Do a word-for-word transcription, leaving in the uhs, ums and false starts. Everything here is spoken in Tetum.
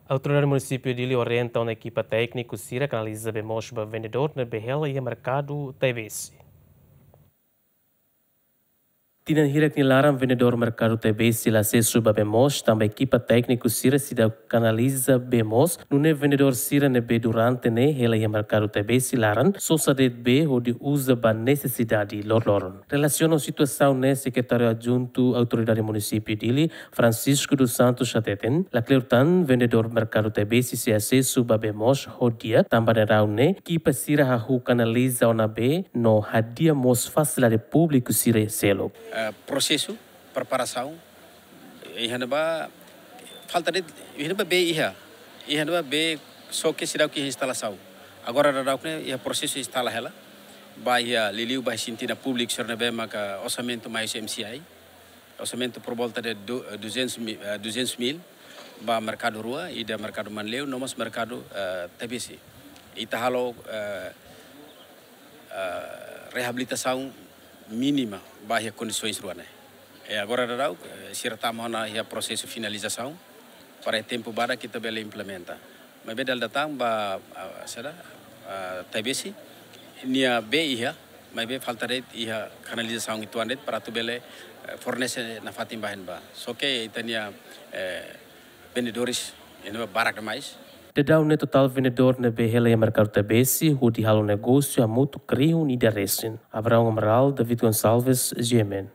Autoridade Munisípiu Dili orienta ona ekipa tékniku sira kanaliza bee moos ba vendedór ne'ebé hela iha merkadu Taibesi. Tinan hirak nia laran vendedór merkadu Taibesi la asesu ba bee moos, tanba ekipa tékniku sira seidauk kanaliza bee moos, nune'e vendedór sira ne'ebé durante ne'e hela iha merkadu Taibesi laran sosa de'it bee hodi uza ba nesesidade loroloron. Relasiona ho situasaun ne'e, Sekretáriu Adjuntu Autoridade Munisípiu Dili, Francisco dos Santos hateten, lakleur tan vendedór merkadu Taibesi sei asesu ba bee moos ho di'ak, tanba daudaun ne'e ekipa sira hahú kanaliza ona bee no hadi'a mós fasilidade públiku sira seluk. Eh, prosesu preparasaun, iha ne'ebá falta de'it, iha ne'ebá bee iha, iha ne'ebá bee só ke seidauk iha instalasaun. Agora daudauk ne'e iha prosesu instala hela, ba iha liuliu ba iha sintina públiku sira ne'ebé maka orsamentu mai husi M C I, orsamentu por volta de du-, eh, duzentos mil, eh, duzentos mil, ba merkadu rua, ida merkadu Manleu, no mós merkadu, eh, Taibesi. Ita halo, eh, eh, reabilitasaun mínima ba iha kondisoens rua ne'e. E agora daudauk, eh, sira tama ona iha prosesu finalizasaun, para tempu badak ita bele implementa. Maibé dala ida tan ba, ah, saida, ah, Taibesi, nia bee iha, maibé falta de'it iha kanalizasaun uitoan de'it para atu bele, eh, fornese nafatin ba iha ne'ebá. Só ke ita-nia, eh, vendedores iha ne'ebá barak demais. Daudaun ne'e totál vendedór ne'ebé hela iha merkadu Taibesi hodi halo negósiu hamutuk rihun ida resin. Abraão Amaral, David Gonçalves, G M N.